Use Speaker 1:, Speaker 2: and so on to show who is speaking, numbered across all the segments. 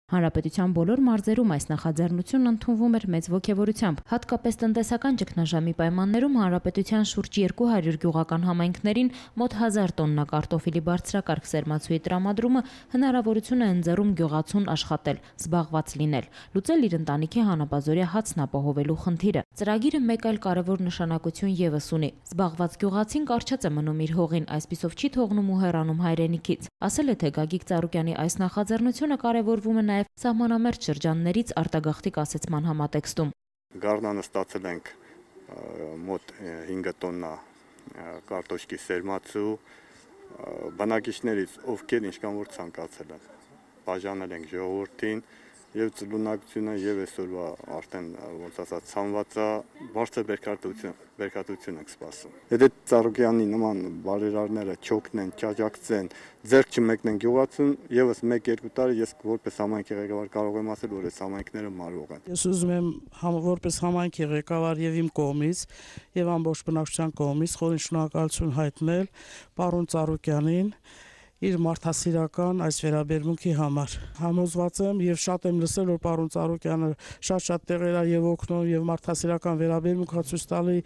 Speaker 1: Հանրապետության բոլոր մարզերում այս նախաձեռնությունն ընդունվում էր մեծ ոգևորությամբ, հատկապես տնտեսական ճգնաժամի պայմաններում հանրապետության շուրջ 200 գյուղական համայնքներին մոտ 1000 տոննա կարտոֆիլի բարձրակարգ սերմացուի տրամադրումը հնարավորություն է ընձեռում գյուղացուն աշխատել, զբաղված լինել, լուծել իր ընտանիքի հանապազօրյա հացն ապահովելու խնդիրը։ Ծրագիրը մեկ այլ կարևոր նշանակություն ևս ունի։ Զբաղված գյուղացին կարճած է մնում իր հողին, այսպիսով չի թողնում ու հեռանում հայրենիքից։ Ասել է, թե Գագիկ Ծառուկյանի այս նախաձեռնությունը կարևորվում է նաև սահմանամերձ շրջաններից արտագաղթի կասեցման համատեքստում։
Speaker 2: Գարնանը ստացել ենք մոտ 5 տոննա կարտոշկի սերմացու, բնակիչներից ովքեր ինչքան որ ցանկացել են, բաժանել ենք ժողովրդին եւ ծլունակությունը եւ այսօրվա արդեն ոնց ասած ցանվածա բարձր բերքատվություն ենք սպասում։ Եթե Ծառուկյանի նման բարերարները չօգնեն, չաջակցեն, ձեռք չմեկնեն գյուղացուն, եւս 1-2 տարի ես որպես համայնքի ղեկավար կարող եմ ասել, որ այս համայնքները մարվող են։
Speaker 3: Ես ուզում եմ որպես համայնքի ղեկավար եւ իմ կողմից եւ ամբողջ բնակչության կողմից խորին շնորհակալություն հայտնել պարոն Ծառուկյանին իր մարդասիրական այս վերաբերմունքի համար։ Համոզված եմ եւ շատ եմ լսել, որ պարոն Ծառուկյանը շատ տեղեր եւ օգնում եւ մարդասիրական վերաբերմունք ցույց տալի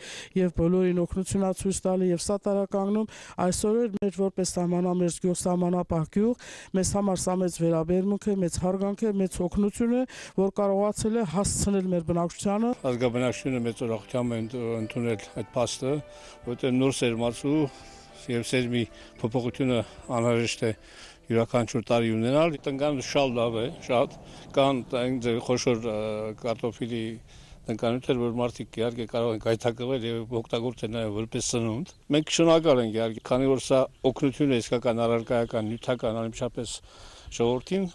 Speaker 3: եւ բոլորին օգնություն ցույց տալի եւ սատարականգնում։ Այսօր էլ մեր որպես սահմանամերձ գյուղ, սահմանապահ գյուղ, մեզ համար սա մեծ վերաբերմունք է, մեծ հարգանք է, մեծ օգնություն է, որ կարողացել է հասցնել մեր բնակչությանը։
Speaker 4: Ազգաբնակչությունը մեծ ուրախությամբ է ընդունել այդ փաստը, որտեղ նոր սերմացու եւ սերմի փոփոխությունը անհրաժեշտ է յուրաքանչյուր տարի ունենալ։ Տնկանը շատ լավ է, շատ կան խոշոր կարտոֆիլի տնկանյութեր, որ մարդիկ իհարկե կարող են գայթակղվել եւ օգտագործել նաեւ որպես սնունդ։ Մենք շնորհակալ ենք իհարկե, քանի որ սա օգնություն է իսկական առարկայական, նյութական, անմիջապես ժողովրդին,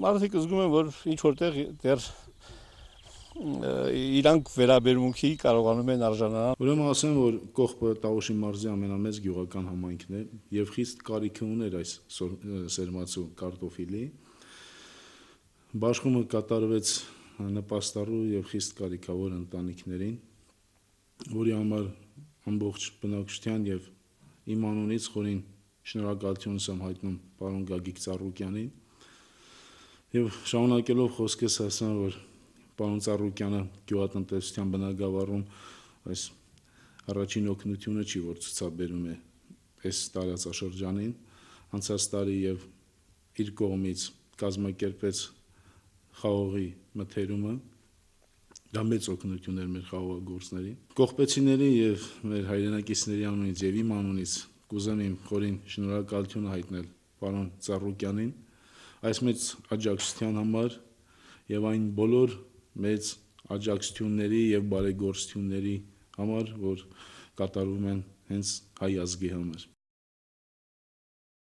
Speaker 4: մարդիկ զգում են, որ ինչ որտեղ դեռ իրանք վերաբերմունքի կարողանում են արժանանալ։
Speaker 5: Ուրեմն ասեմ, որ Կողբը Տավուշի մարզի ամենամեծ գյուղական համայնքն է եւ խիստ կարիք ուներ այս սերմացու կարտոֆիլի։ Բաշխումը կատարվեց նպաստառու եւ խիստ կարիքավոր ընտանիքներին, որի համար ամբողջ բնակչության եւ իմ անունից խորին շնորհակալություն եմ հայտնում պարոն Գագիկ Ծառուկյանին եւ շարունակելով խոսքս ասեմ, որ պարոն Ծառուկյանը գյուղատնտեսության բնագավառում այս առաջին օգնությունը չի, որ ցուցաբերում է այս տարածաշրջանին, անցած տարի եւ իր կողմից կազմակերպեց խաղողի մթերումը, դա մեծ օգնություն էր մեր խաղողագործներին։ Կողբեցիների եւ մեր հայրենակիցների անունից եւ իմ անունից կուզեմ իմ խորին շնորհակալությունը հայտնել պարոն Ծառուկյանին այս մեծ աջակցության համար եւ այն բոլոր մեծ աջակցությունների եւ բարեգործությունների համար, որ կատարվում են հենց հայ ազգի համար։